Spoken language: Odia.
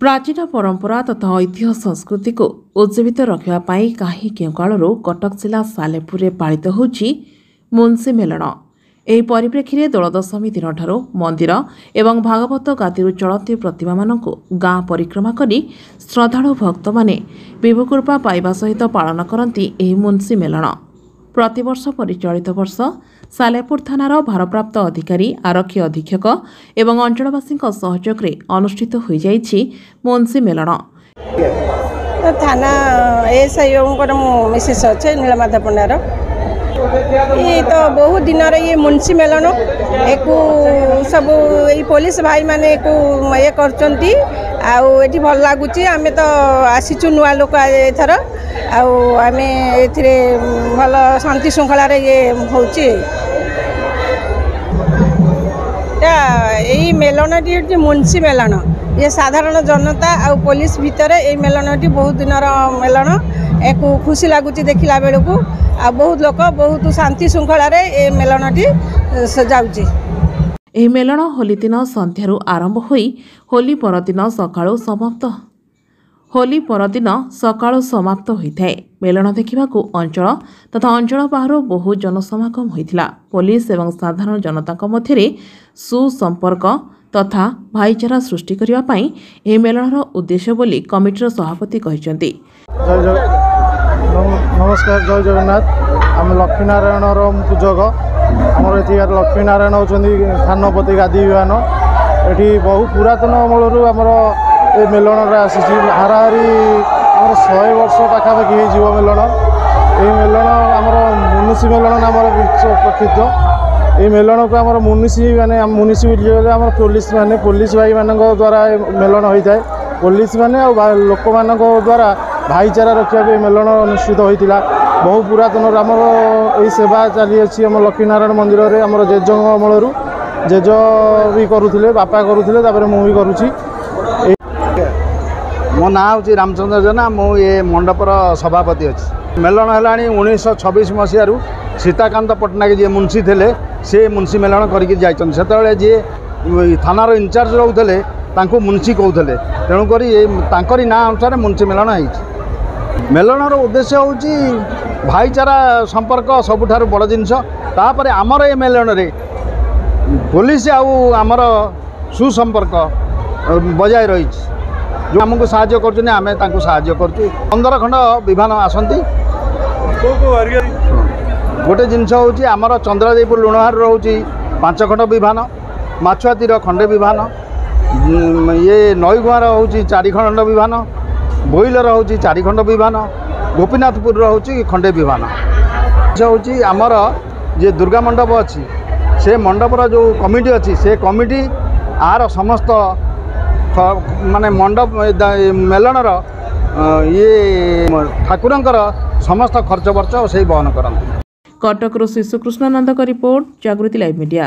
ପ୍ରାଚୀନ ପରମ୍ପରା ତଥା ଐତିହ୍ୟ ସଂସ୍କୃତିକୁ ଉଜ୍ଜୀବିତ ରଖିବା ପାଇଁ କାହିଁ କେଉଁ କାଳରୁ କଟକ ଜିଲ୍ଲା ସାଲେପୁରରେ ପାଳିତ ହେଉଛି ମୁନ୍ସି ମେଲଣ। ଏହି ପରିପ୍ରେକ୍ଷୀରେ ଦୋଳଦଶମୀ ଦିନଠାରୁ ମନ୍ଦିର ଏବଂ ଭାଗବତ ଗାଦିରୁ ଚଳନ୍ତି ପ୍ରତିମାମାନଙ୍କୁ ଗାଁ ପରିକ୍ରମା କରି ଶ୍ରଦ୍ଧାଳୁ ଭକ୍ତମାନେ ବିଭୁକୃପା ପାଇବା ସହିତ ପାଳନ କରନ୍ତି ଏହି ମୁନ୍ସି ମେଲଣ। ପ୍ରତିବର୍ଷ ପରି ଚଳିତ ବର୍ଷ ସାଲେପୁର ଥାନାର ଭାରପ୍ରାପ୍ତ ଅଧିକାରୀ, ଆରକ୍ଷୀ ଅଧୀକ୍ଷକ ଏବଂ ଅଞ୍ଚଳବାସୀଙ୍କ ସହଯୋଗରେ ଅନୁଷ୍ଠିତ ହୋଇଯାଇଛି ମୁନ୍ସି ମେଲଣ। ଥାନା ଏଏସ୍ଆଇ ବାବୁଙ୍କର ମୁଁ ମିସେସ୍ ଅଛି, ନୀଳମାଧବ ପଣ୍ଡାର। ଇଏ ତ ବହୁତ ଦିନର ଇଏ ମୁନ୍ସି ମେଲଣ, ଏକୁ ସବୁ ଏଇ ପୋଲିସ ଭାଇମାନେ ଏକୁ ଇଏ କରୁଛନ୍ତି ଆଉ ଏଠି ଭଲ ଲାଗୁଛି। ଆମେ ତ ଆସିଛୁ ନୂଆ ଲୋକ ଏଥର, ଆଉ ଆମେ ଏଥିରେ ଭଲ ଶାନ୍ତି ଶୃଙ୍ଖଳାରେ ଇଏ ହେଉଛି। ଏଇ ମେଲଣଟି ହେଉଛି ମୁନ୍ସି ମେଲଣ। ଇଏ ସାଧାରଣ ଜନତା ଆଉ ପୋଲିସ ଭିତରେ ଏଇ ମେଲଣଟି ବହୁତ ଦିନର ମେଲଣ। ଏକୁ ଖୁସି ଲାଗୁଛି ଦେଖିଲା ବେଳକୁ, ଆଉ ବହୁତ ଲୋକ ବହୁତ ଶାନ୍ତି ଶୃଙ୍ଖଳାରେ ଏ ମେଲଣଟି ଯାଉଛି। ଏହି ମେଲଣ ହୋଲି ଦିନ ସନ୍ଧ୍ୟାରୁ ଆରମ୍ଭ ହୋଇ ହୋଲି ପରଦିନ ସକାଳୁ ସମାପ୍ତ ହୋଲି ପରଦିନ ସକାଳୁ ସମାପ୍ତ ହୋଇଥାଏ। ମେଲଣ ଦେଖିବାକୁ ଅଞ୍ଚଳ ତଥା ଅଞ୍ଚଳ ବାହାରୁ ବହୁ ଜନସମାଗମ ହୋଇଥିଲା। ପୋଲିସ ଏବଂ ସାଧାରଣ ଜନତାଙ୍କ ମଧ୍ୟରେ ସୁସମ୍ପର୍କ ତଥା ଭାଇଚାରା ସୃଷ୍ଟି କରିବା ପାଇଁ ଏହି ମେଲଣର ଉଦ୍ଦେଶ୍ୟ ବୋଲି କମିଟିର ସଭାପତି କହିଛନ୍ତି। ନମସ୍କାର, ଜୟ ଜଗନ୍ନାଥ। ଆମେ ଲକ୍ଷ୍ମୀନାରାୟଣର ପୂଜକ। ଆମର ଏଠିକାର ଲକ୍ଷ୍ମୀନାରାୟଣ ହେଉଛନ୍ତି ଥାନପତି ଗାଦି ବିମାନ। ଏଠି ବହୁ ପୁରାତନ ଅମଳରୁ ଆମର ଏ ମେଲଣଟା ଆସିଛି। ହାରାହାରି ଆମର 100 ବର୍ଷ ପାଖାପାଖି ହେଇଯିବ ମେଲଣ। ଏଇ ମେଲଣ ଆମର ମୁନିଷି ମେଲଣ ନାମରେ ପ୍ରସିଦ୍ଧ। ଏଇ ମେଲଣକୁ ଆମର ମୁନିଷି ମାନେ, ମୁନିଷି ବୋଲି ଆମର ପୋଲିସ ମାନେ, ପୋଲିସ ଭାଇମାନଙ୍କ ଦ୍ୱାରା ଏ ମେଲଣ ହୋଇଥାଏ। ପୋଲିସ ମାନେ ଆଉ ଲୋକମାନଙ୍କ ଦ୍ୱାରା ଭାଇଚାରା ରଖିବାକୁ ଏ ମେଲଣ ଅନୁଷ୍ଠିତ ହୋଇଥିଲା। ବହୁ ପୁରାତନରୁ ଆମର ଏଇ ସେବା ଚାଲିଅଛି ଆମ ଲକ୍ଷ୍ମୀନାରାୟଣ ମନ୍ଦିରରେ। ଆମର ଜେଜେଙ୍କ ଅମଳରୁ ଜେଜ ବି କରୁଥିଲେ, ବାପା କରୁଥିଲେ, ତାପରେ ମୁଁ ବି କରୁଛି। ମୋ ନାଁ ହେଉଛି ରାମଚନ୍ଦ୍ର ଜେନା, ମୁଁ ଏ ମଣ୍ଡପର ସଭାପତି ଅଛି। ମେଲଣ ହେଲାଣି 1926 ମସିହାରୁ। ସୀତାକାନ୍ତ ପଟ୍ଟନାୟକ ଯିଏ ମୁନ୍ସି ଥିଲେ, ସେ ମୁନ୍ସି ମେଲଣ କରିକି ଯାଇଛନ୍ତି। ସେତେବେଳେ ଯିଏ ଥାନାର ଇନଚାର୍ଜ ରହୁଥିଲେ ତାଙ୍କୁ ମୁନ୍ସି କହୁଥିଲେ, ତେଣୁକରି ଏ ତାଙ୍କରି ନାଁ ଅନୁସାରେ ମୁନ୍ସି ମେଲଣ ହେଇଛି। ମେଲଣର ଉଦ୍ଦେଶ୍ୟ ହେଉଛି ଭାଇଚାରା ସମ୍ପର୍କ ସବୁଠାରୁ ବଡ଼ ଜିନିଷ। ତାପରେ ଆମର ଏ ମେଲଣରେ ପୋଲିସ ଆଉ ଆମର ସୁସମ୍ପର୍କ ବଜାୟ ରହିଛି। ଯେଉଁ ଆମକୁ ସାହାଯ୍ୟ କରୁଛନ୍ତି, ଆମେ ତାଙ୍କୁ ସାହାଯ୍ୟ କରୁଛୁ। 15 ଖଣ୍ଡ ବିମାନ ଆସନ୍ତି। ଗୋଟେ ଜିନିଷ ହେଉଛି ଆମର ଚନ୍ଦ୍ରାଦେଇପୁର ଲୁଣହାର ରହୁଛି 5 ଖଣ୍ଡ ବିମାନ, ମାଛୁଆତିର ଖଣ୍ଡେ ବିମାନ, ଇଏ ନଈଗୁଆଁର ହେଉଛି 4 ଖଣ୍ଡ ବିମାନ, ବୋଇଲର ହେଉଛି 4 ଖଣ୍ଡ ବିମାନ, ଗୋପୀନାଥପୁରର ହେଉଛି ଖଣ୍ଡେ ବିମାନ। ହେଉଛି ଆମର ଯେ ଦୁର୍ଗା ମଣ୍ଡପ ଅଛି, ସେ ମଣ୍ଡପର ଯେଉଁ କମିଟି ଅଛି, ସେ କମିଟି ଆର ସମସ୍ତ ମାନେ ମଣ୍ଡପ ମେଲଣର ଇଏ ଠାକୁରଙ୍କର ସମସ୍ତ ଖର୍ଚ୍ଚ ବର୍ଚ୍ଚ ସେଇ ବହନ କରନ୍ତି। କଟକରୁ ଶିଶୁକୃଷ୍ଣ ନନ୍ଦଙ୍କ ରିପୋର୍ଟ, ଜାଗୃତି ଲାଇଭ୍ ମିଡିଆ।